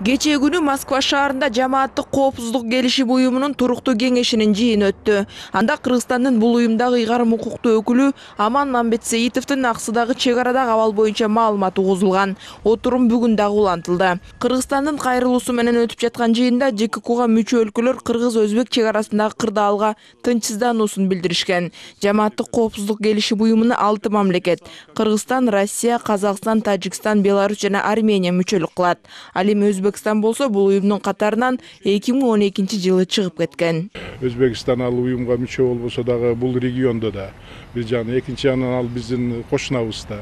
Кечээ күнү Москва шаарында жамааттык коопсуздук келишим уюмунун туруктуу кеңешинин жыйыны өттү. Анда Кыргызстандын бул уюмдагы ыйгарым укуктуу өкүлү Аман Мамбетсеитовдун аксыдагы чек арадагы абал боюнча маалымат угузулган. Отурум бүгүн дагы улантылды. Кыргызстандын кайрылуусу менен өтүп жаткан жыйында ЖККга мүчө өлкөлөр кыргыз-өзбек чек арасындагы кырдаалга тынчсыздануусун билдиришкен. Жамааттык коопсуздук келишим уюмуна 6 мамлекет — Кыргызстан, Россия, Казакстан, Тажикстан, Беларусь жана Армения мүчөлүк кылат. Ал эми Өзбекстан болсо бул уюмдун катарынан 2012-жылы чыгып кеткен. Өзбекстан ал уюмга мүчө болбосо дагы бул региондо да бир жагынан, экинчи жагынан ал биздин кошунабыз да.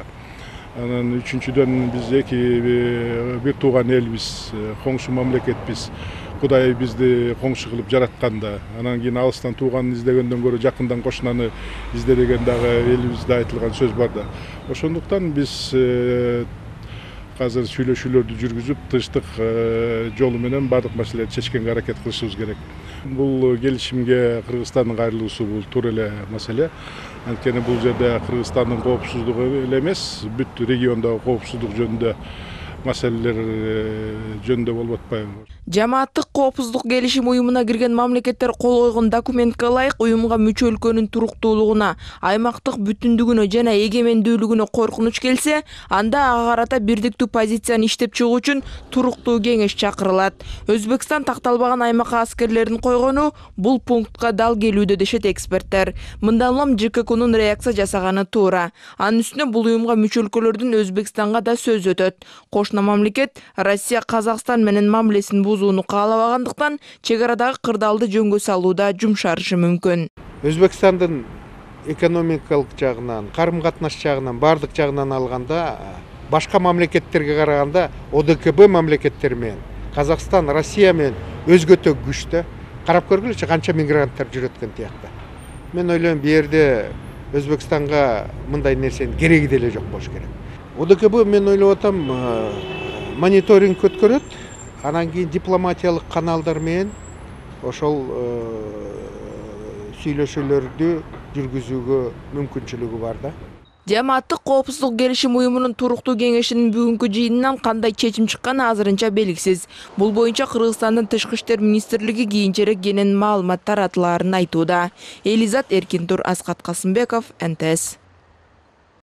Анан үчүнчүдөн биз бир тууган элбиз, коңшу мамлекетпиз. Кудай бизди коңшу кылып жаратканда, анан кийин алыстан тууганын издегенден көрө жакындан кошунаны изде деген дагы элибизде айтылган сөз бар да. Ошондуктан биз азыр сүйлөшүүлөрдү жүргүзүп, тынчтык жолу менен бардык маселелерди чечкенге аракет кылышыбыз керек. Бул келишимге Кыргызстандын кайрылуусу бул туура эле маселе. Анткени бул жерде Кыргызстандын коопсуздугу эле эмес, бүт региондогу коопсуздук жөнүндө маселелер жөнүндө болуп атпайбы? Жамааттык коопсуздук келишим уюмуна кирген мамлекеттер кол койгон документке ылайык уюмга мүчө өлкөнүн туруктуулугуна, аймактык бүтүндүгүнө жана эгемендүүлүгүнө коркунуч келсе, анда ага карата бирдиктүү позицияны иштеп чыгуу үчүн туруктуу кеңеш чакырылат. Өзбекстан такталбаган аймакка аскерлерин койгону бул пунктка дал келүүдө дешет эксперттер. Мындан улам ЖККнун реакция жасаганы туура. Анын үстүнө бул уюмга мүчө өлкөлөрдүн Өзбекстанга да сөз өтөт. Кошуна мамлекет Россия Казакстан менен мамилесин бузууну каалабагандыктан чек арадагы кырдаалды жөнгө салууда жумшарышы мүмкүн. Өзбекстандын экономикалык жагынан, карым-катнаш жагынан, бардык жагынан алганда башка мамлекеттерге караганда ОДКБ мамлекеттери менен Казакстан, Россия менен өзгөчө күчтүү. Карап көргүлөчү канча мигранттар жүрөт экен тиякта. Мен ойлойм, бу жерде Өзбекстанга мындай нерсенин кереги деле жок болуш керек. ОДКБ мен ойлоп атам мониторинг өткөрөт, анан кийин дипломатиялык каналдар менен ошол сүйлөшүүлөрдү жүргүзүүгө мүмкүнчүлүгү бар да. Жамааттык коопсуздук келишим уюмунун туруктуу кеңешинин бүгүнкү жыйынынан кандай чечим чыкканы азырынча белгисиз. Бул боюнча Кыргызстандын Тышкы иштер министрлиги кийинчерээк кенен маалымат таратылаарын айтууда. Элизат Эркинтур, Аскат Касымбеков, НТС.